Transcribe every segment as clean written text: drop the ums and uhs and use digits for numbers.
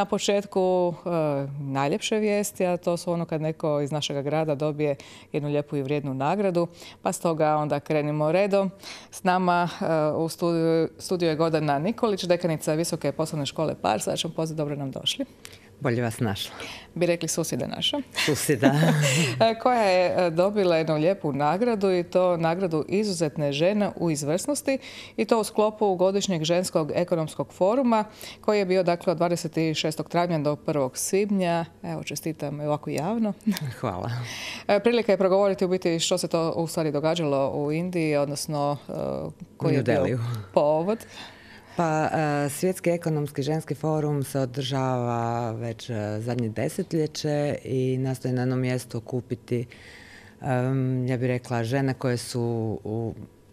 na početku najljepše vijesti, a to su ono kad neko iz našeg grada dobije jednu lijepu i vrijednu nagradu. Pa stoga onda krenimo redom. S nama u studiju je Gordana Nikolić, dekanica Visoke poslovne škole Pars. Sad ćemo pozdrav, dobro nam došli. Bolje vas našla. Bi rekli susjeda naša. Susjeda. Koja je dobila jednu lijepu nagradu i to nagradu izuzetne žene u izvrsnosti i to u sklopu godišnjeg ženskog ekonomskog foruma koji je bio dakle od 26. travnja do 1. svibnja. Evo, čestitam ovako javno. Hvala. Prilika je progovoriti u biti što se to u stvari događalo u Indiji, odnosno koji je bio povod. Pa, Svjetski ekonomski ženski forum se održava već zadnje desetljeće i nastoji na jednom mjestu okupiti, ja bih rekla, žene koje su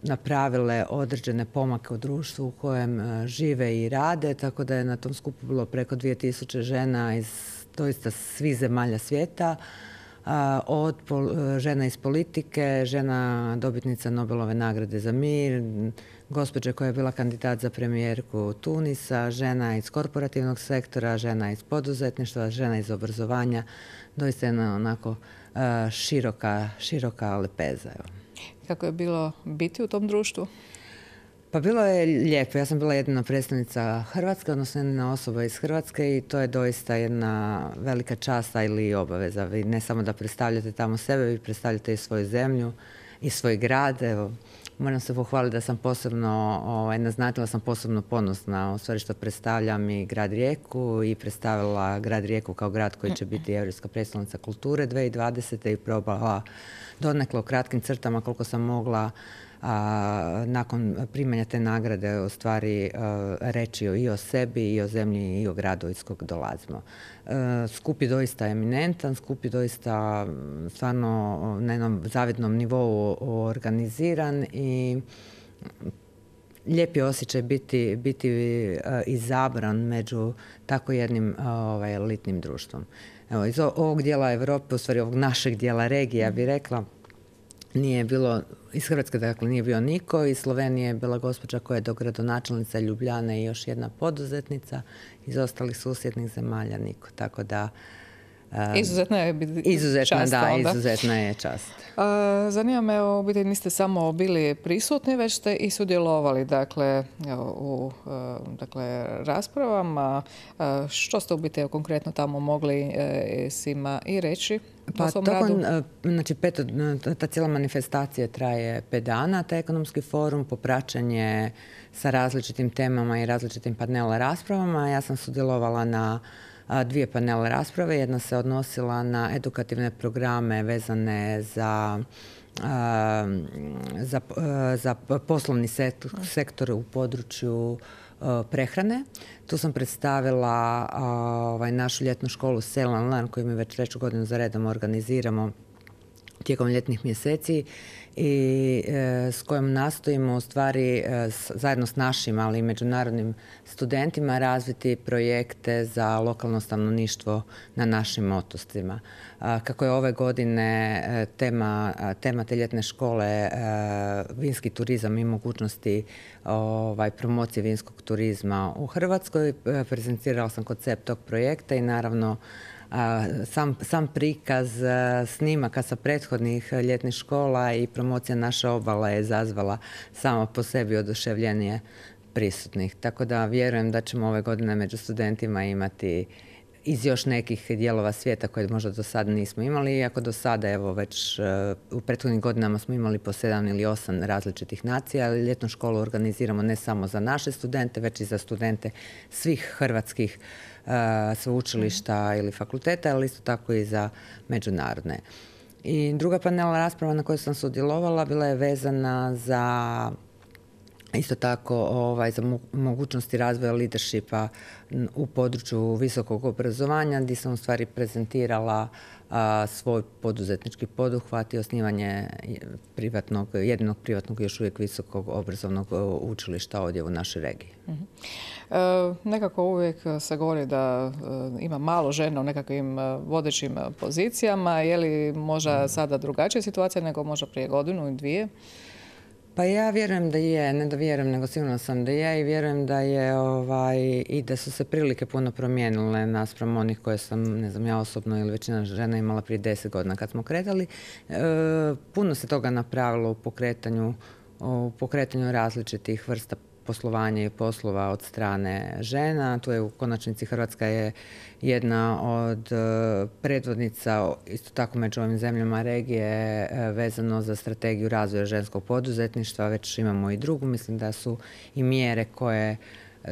napravile određene pomake u društvu u kojem žive i rade, tako da je na tom skupu bilo preko 2000 žena iz doista svih zemalja svijeta, od žena iz politike, žena dobitnica Nobelove nagrade za mir, gospođa koja je bila kandidat za premijerku Tunisa, žena iz korporativnog sektora, žena iz poduzetništva, žena iz obrazovanja. Doista jedna onako široka lepeza. Kako je bilo biti u tom društvu? Pa bilo je lijepo. Ja sam bila jedina predstavnica Hrvatske, odnosno jedna osoba iz Hrvatske i to je doista jedna velika čast ili i obaveza. Vi ne samo da predstavljate tamo sebe, vi predstavljate i svoju zemlju i svoj grad. Evo, moram se pohvaliti da sam posebno, naznatila sam posebno ponosna u stvari što predstavljam i grad Rijeku i predstavila grad Rijeku kao grad koji će biti Europska prijestolnica kulture 2020. i probala donekle u kratkim crtama koliko sam mogla nakon primanja te nagrade u stvari reći i o sebi i o zemlji i o gradu iz kojeg dolazimo. Skup je doista eminentan, skup je doista stvarno na jednom zavidnom nivou organiziran i lijep je osjećaj biti izabran među tako jednim elitnim društvom. Evo, iz ovog dijela Europe, u stvari ovog našeg dijela regije, ja bih rekla, nije bilo, iz Hrvatske dakle nije bio niko, iz Slovenije je bila gospođa koja je dogradonačelnica Ljubljane i još jedna poduzetnica, iz ostalih susjednih zemalja niko, tako da izuzetna je čast. Izuzetna je čast. Zanima me, u biti niste samo bili prisutni, već ste i sudjelovali u raspravama. Što ste u biti konkretno tamo mogli svima i reći o svom radu? Znači, ta cijela manifestacija traje 5 dana, taj ekonomski forum, popraćanje sa različitim temama i različitim panel raspravama. Ja sam sudjelovala na 2 panel rasprave. Jedna se odnosila na edukativne programe vezane za poslovni sektor u području prehrane. Tu sam predstavila našu ljetnu školu Sell and Learn koju mi već 3. godinu za redom organiziramo tijekom ljetnih mjeseci i s kojom nastojimo u stvari zajedno s našim, ali i međunarodnim studentima razviti projekte za lokalno stanovništvo na našim otocima. Kako je ove godine tema te ljetne škole vinski turizam i mogućnosti promocije vinskog turizma u Hrvatskoj, prezentirala sam koncept tog projekta i naravno sam prikaz snimaka sa prethodnih ljetnih škola i promocija naše obale je izazvala sama po sebi oduševljenje prisutnih. Tako da vjerujem da ćemo ove godine među studentima imati iz još nekih dijelova svijeta koje možda do sada nismo imali, iako do sada evo već u prethodnim godinama smo imali po 7 ili 8 različitih nacija, ali ljetnu školu organiziramo ne samo za naše studente, već i za studente svih hrvatskih sveučilišta ili fakulteta, ali isto tako i za međunarodne. I druga panel rasprava na kojoj sam sudjelovala bila je vezana za isto tako za mogućnosti razvoja leadershipa u području visokog obrazovanja, gdje sam u stvari prezentirala svoj poduzetnički poduhvat i osnivanje jedinog privatnog još uvijek visokog obrazovnog učilišta ovdje u našoj regiji. Nekako uvijek se govori da ima malo žena u nekakvim vodećim pozicijama. Je li možda sada drugačija situacija nego možda prije godinu i 2? Pa ja vjerujem da je, ne da vjerujem, nego sigurno sam da je i vjerujem da je i da su se prilike puno promijenile naspram onih koje sam, ne znam, ja osobno ili većina žena imala prije 10 godina kad smo kretali. Puno se toga napravilo u pokretanju različitih vrsta poslovanja i poslova od strane žena. Tu je u konačnici Hrvatska je jedna od predvodnica, isto tako među ovim zemljama regije, vezano za strategiju razvoja ženskog poduzetništva. Već imamo i drugu. Mislim da su i mjere koje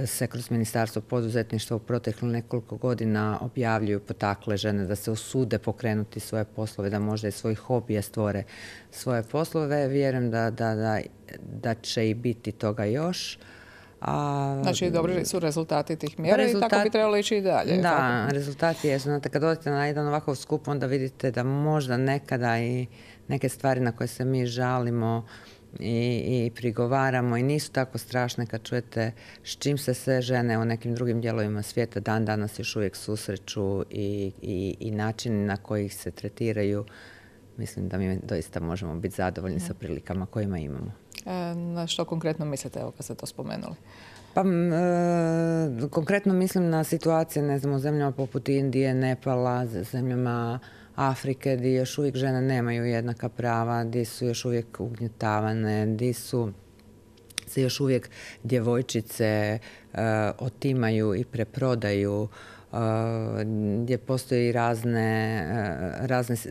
se kroz Ministarstvo poduzetništva u proteklih nekoliko godina objavljuju, potakle žene da se usude pokrenuti svoje poslove, da možda i svojih hobija stvore svoje poslove. Vjerujem da će i biti toga još. Znači, dobri su rezultati tih mjera i tako bi trebalo ići i dalje. Da, rezultati jesu. Znate, kad odete na jedan ovakav skup, onda vidite da možda nekada i neke stvari na koje se mi žalimo i prigovaramo i nisu tako strašne kad čujete s čim se sve žene u nekim drugim dijelovima svijeta dan danas još uvijek susreću i načini na koji ih se tretiraju. Mislim da mi doista možemo biti zadovoljni sa prilikama kojima imamo. Na što konkretno mislite, evo kad ste to spomenuli? Pa, konkretno mislim na situacije, ne znam, u zemljama poput Indije, Nepala, zemljama Afrike, gdje još uvijek žene nemaju jednaka prava, gdje su još uvijek ugnjetavane, gdje se još uvijek djevojčice otimaju i preprodaju, gdje postoji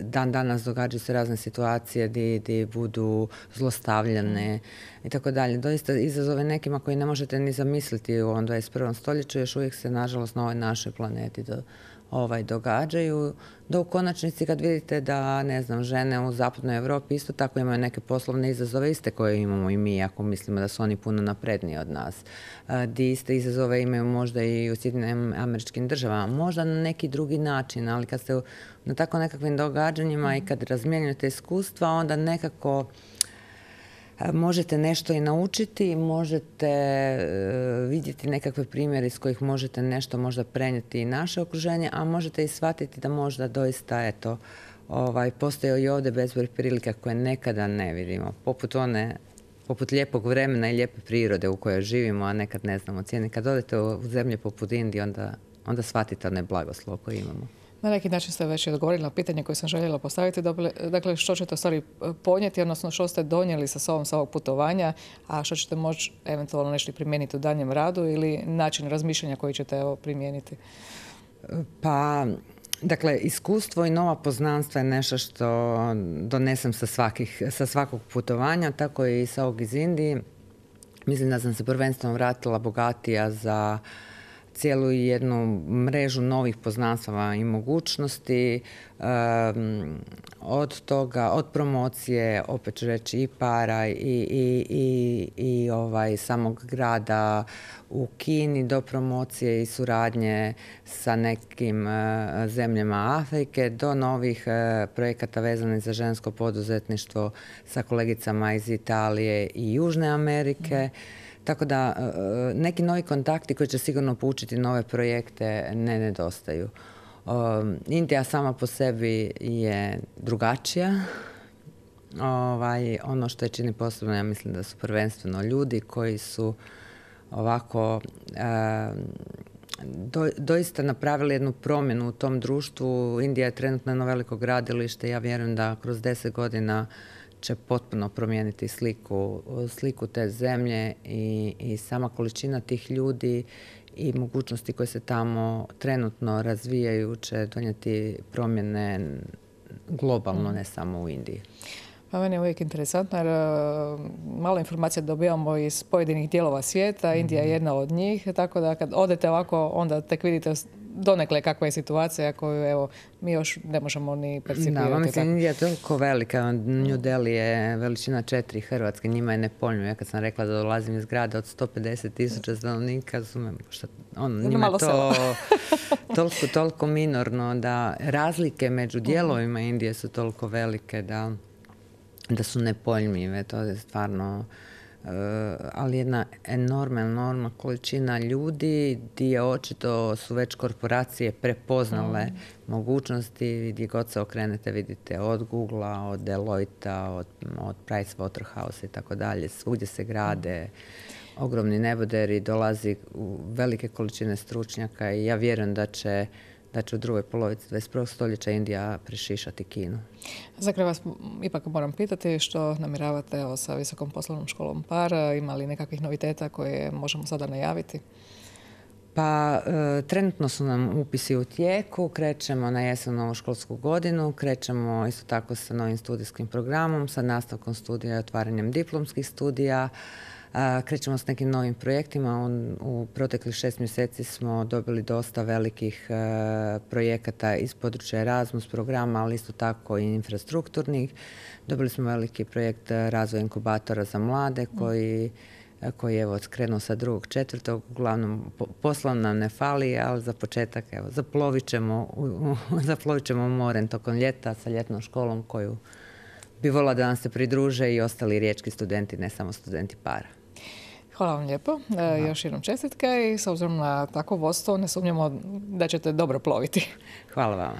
dan danas događaju se razne situacije gdje budu zlostavljane i tako dalje. Doista izazove nekima koji ne možete ni zamisliti u ovom 21. stoljeću još uvijek se nažalost na ovoj našoj planeti događaju. Da u konačnici kad vidite da, ne znam, žene u zapadnoj Europi isto tako imaju neke poslovne izazove iste koje imamo i mi, ako mislimo da su oni puno napredniji od nas. Di iste izazove imaju možda i u Sjedinjenim Američkim Državama, možda na neki drugi način, ali kad ste na tako nekakvim događanjima i kad razmjenjujete iskustva, onda nekako možete nešto i naučiti, možete vidjeti nekakve primjere iz kojih možete nešto možda prenijeti i naše okruženje, a možete i shvatiti da možda doista, postoje i ovdje bezbroj prilika koje nekada ne vidimo. Poput lijepog vremena i lijepe prirode u kojoj živimo, a nekad ne znamo cijene. Kad odete u zemlje poput Indije, onda shvatite onaj blagoslov koji imamo. Na neki način ste već odgovorili na pitanje koje sam željela postaviti. Dakle, što ćete u stvari ponijeti, odnosno što ste donijeli sa sobom sa ovog putovanja, a što ćete moći eventualno nešto primijeniti u danjem radu ili način razmišljanja koji ćete primijeniti? Pa, dakle, iskustvo i nova poznanstva je nešto što donesem sa svakog putovanja, tako i sa ovog iz Indije. Mislim da sam se prvenstveno vratila bogatija za cijelu jednu mrežu novih poznanstava i mogućnosti, od toga, od promocije, opet ću reći, i para i samog grada u Kini do promocije i suradnje sa nekim zemljama Afrike, do novih projekata vezanih za žensko poduzetništvo sa kolegicama iz Italije i Južne Amerike. Tako da neki novi kontakti koji će sigurno poučiti nove projekte ne nedostaju. Indija sama po sebi je drugačija. Ono što je čini posebno, ja mislim da su prvenstveno ljudi koji su ovako doista napravili jednu promjenu u tom društvu. Indija je trenutno jedno veliko gradilište. Ja vjerujem da kroz 10 godina će potpuno promijeniti sliku te zemlje i sama količina tih ljudi i mogućnosti koje se tamo trenutno razvijaju će donijeti promjene globalno, ne samo u Indiji. Pa meni je uvijek interesantno jer malo informacija dobivamo iz pojedinih dijelova svijeta, Indija je jedna od njih, tako da kad odete ovako onda tek vidite donekle kakva je situacija koju mi još ne možemo ni percipirati. Da, mislim, Indija je toliko velika, New Delhi je veličina 4 Hrvatske, njima je nepojmljivo. Ja kad sam rekla da dolazim iz grada od 150.000 stanovnika, njima je to toliko minorno da razlike među dijelovima Indije su toliko velike da su nepojmljive. To je stvarno ali jedna enormna količina ljudi gdje očito su već korporacije prepoznale mogućnosti. Gdje god se okrenete vidite od Googlea, od Deloitta, od Pricewaterhouse i tako dalje. Svugdje se grade ogromni neboderi, dolazi u velike količine stručnjaka i ja vjerujem da će u drugoj polovici 21. stoljeća Indija prešišati Kinu. Za kraj vas ipak moram pitati što namjeravate sa Visokom poslovnom školom PAR. Ima li nekakvih noviteta koje možemo sada najaviti? Pa trenutno su nam upisi u tijeku, krećemo na jesen novu školsku godinu, krećemo isto tako sa novim studijskim programom, sa nastavkom studija i otvaranjem diplomskih studija. Krećemo s nekim novim projektima. U proteklih 6 mjeseci smo dobili dosta velikih projekata iz područja Erasmus programa, ali isto tako i infrastrukturnih. Dobili smo veliki projekt razvoja inkubatora za mlade koji je evo krenuo sa 2.4. Uglavnom posla nam ne fali, ali za početak evo, zaplovit ćemo morem tokom ljeta sa ljetnom školom koju bi volila da nam se pridruže i ostali riječki studenti, ne samo studenti PAR-a. Hvala vam lijepo. Još jednom čestitke i s obzirom na takvo vodstvo ne sumnjamo da ćete dobro ploviti. Hvala vama.